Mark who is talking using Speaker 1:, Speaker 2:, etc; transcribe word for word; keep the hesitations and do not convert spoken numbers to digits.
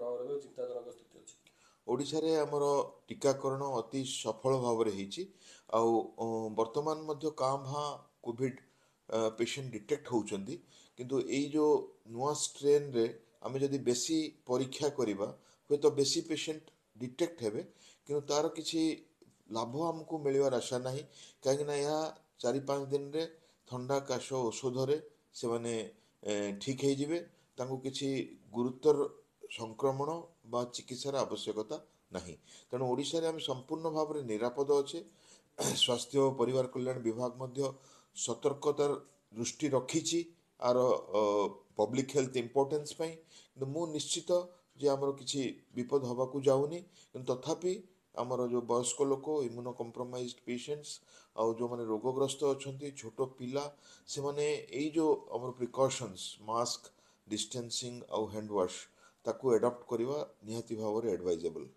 Speaker 1: ପ୍ରଭାବ ରହିବ, ଚିନ୍ତାଜନକ ସ୍ଥିତି ଅଛି?
Speaker 2: ଓଡ଼ିଶାରେ ଆମର ଟୀକାକରଣ ଅତି ସଫଳ ଭାବରେ ହେଇଛି, ଆଉ ବର୍ତ୍ତମାନ ମଧ୍ୟ କାଁ ଭାଁ କୋଭିଡ଼ ପେସେଣ୍ଟ ଡିଟେକ୍ଟ ହେଉଛନ୍ତି। କିନ୍ତୁ ଏଇ ଯେଉଁ ନୂଆ ଷ୍ଟ୍ରେନ୍ରେ ଆମେ ଯଦି ବେଶୀ ପରୀକ୍ଷା କରିବା, ହୁଏତ ବେଶୀ ପେସେଣ୍ଟ ଡିଟେକ୍ଟ ହେବେ, କିନ୍ତୁ ତା'ର କିଛି ଲାଭ ଆମକୁ ମିଳିବାର ଆଶା ନାହିଁ, କାହିଁକିନା ଏହା ଚାରି ପାଞ୍ଚ ଦିନରେ ଥଣ୍ଡା କାଶ ଔଷଧରେ ସେମାନେ ଠିକ୍ ହେଇଯିବେ। ତାଙ୍କୁ କିଛି ଗୁରୁତର ସଂକ୍ରମଣ ବା ଚିକିତ୍ସାର ଆବଶ୍ୟକତା ନାହିଁ। ତେଣୁ ଓଡ଼ିଶାରେ ଆମେ ସମ୍ପୂର୍ଣ୍ଣ ଭାବରେ ନିରାପଦ ଅଛେ। ସ୍ୱାସ୍ଥ୍ୟ ଓ ପରିବାର କଲ୍ୟାଣ ବିଭାଗ ମଧ୍ୟ ସତର୍କତାର ଦୃଷ୍ଟି ରଖିଛି ଆର ପବ୍ଲିକ୍ ହେଲ୍ଥ ଇମ୍ପୋର୍ଟାନ୍ସ ପାଇଁ। କିନ୍ତୁ ମୁଁ ନିଶ୍ଚିତ ଯେ ଆମର କିଛି ବିପଦ ହେବାକୁ ଯାଉନି। କିନ୍ତୁ ତଥାପି ଆମର ଯେଉଁ ବୟସ୍କ ଲୋକ, ଇମ୍ୟୁନୋ କମ୍ପ୍ରମାଇଜ୍ଡ ପେସେଣ୍ଟସ୍, ଆଉ ଯେଉଁମାନେ ରୋଗଗ୍ରସ୍ତ ଅଛନ୍ତି, ଛୋଟ ପିଲା, ସେମାନେ ଏଇ ଯେଉଁ ଆମର ପ୍ରିକସନ୍ସ, ମାସ୍କ, ଡିଷ୍ଟାନ୍ସିଂ ଆଉ ହ୍ୟାଣ୍ଡ ୱାଶ୍, ତାକୁ ଆଡ଼ପ୍ଟ କରିବା ନିହାତି ଭାବରେ ଆଡ଼ଭାଇଜେବଲ୍।